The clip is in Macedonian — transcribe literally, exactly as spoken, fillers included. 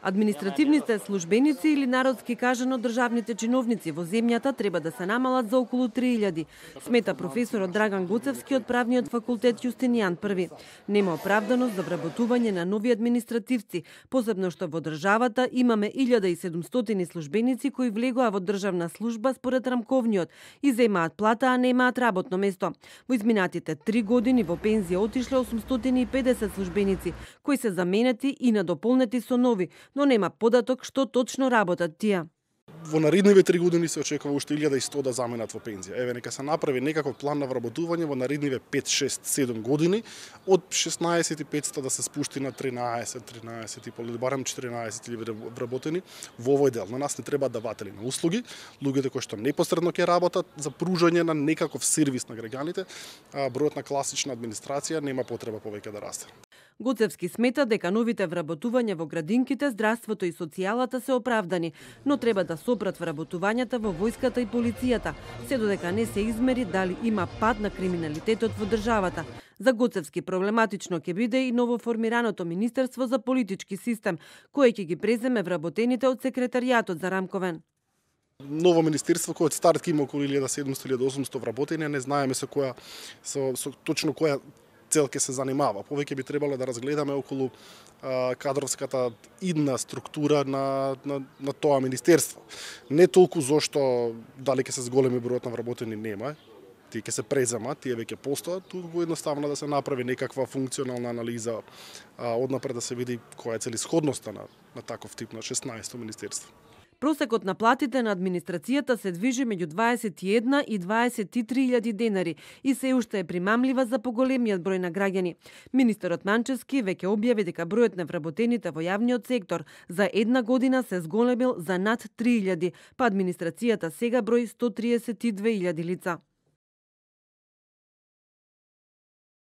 Административните службеници или народски кажано државните чиновници во земјата треба да се намалат за околу три илјади, смета професорот Драган Гоцевски од правниот факултет Јустинијан Први. Нема оправданост за вработување на нови административци, посебно што во државата имаме илјада и седумстотини службеници кои влегоа во државна служба според рамковниот и земаат плата, а немаат работно место. Во изминатите три години во пензија отишле осумстотини и педесет службеници, кои се заменети и надополнети со нови, но нема податок што точно работат тие. Во наредниве три години се очекува уште илјада и сто да заменат во пензија. Еве, нека се направи некаков план на вработување во наредниве пет, шест, седум години, од шеснаесет и петстотини да се спушти на тринаесет, тринаесет и пол, барем четиринаесет илјади вработени во овој дел. На нас не треба даватели на услуги, луѓето кои што непосредно ќе работат за пружање на некаков сервис на граѓаните, а бројот на класична администрација нема потреба повеќе да расте. Гоцевски смета дека новите вработувања во градинките, здравството и социјалата се оправдани, но треба да сопрат вработувањата во војската и полицијата, се додека не се измери дали има пад на криминалитетот во државата. За Гоцевски проблематично ќе биде и новоформираното Министерство за политички систем, кое ќе ги преземе вработените од секретаријатот за Рамковен. Ново министерство кој од старт има околу илјада и седумстотини до илјада и осумстотини вработени, не знаеме со која со, со точно која цел ќе се занимава. Повеќе би требало да разгледаме околу а, кадровската идна структура на, на, на тоа министерство. Не толку зошто дали ќе се зголеми бројот на вработени нема, тие ќе се преземат, тие веќе постојат, туку едноставно да се направи некаква функционална анализа а, однапред да се види која е целисходноста на, на таков тип на шеснаесто министерство. Просекот на платите на администрацијата се движи меѓу дваесет и една и дваесет и три илјади денари и се уште е примамлива за поголемиот број на граѓани. Министерот Манчевски веќе објави дека бројот на вработените во јавниот сектор за една година се зголемил за над три илјади, па администрацијата сега брои сто триесет и две илјади лица.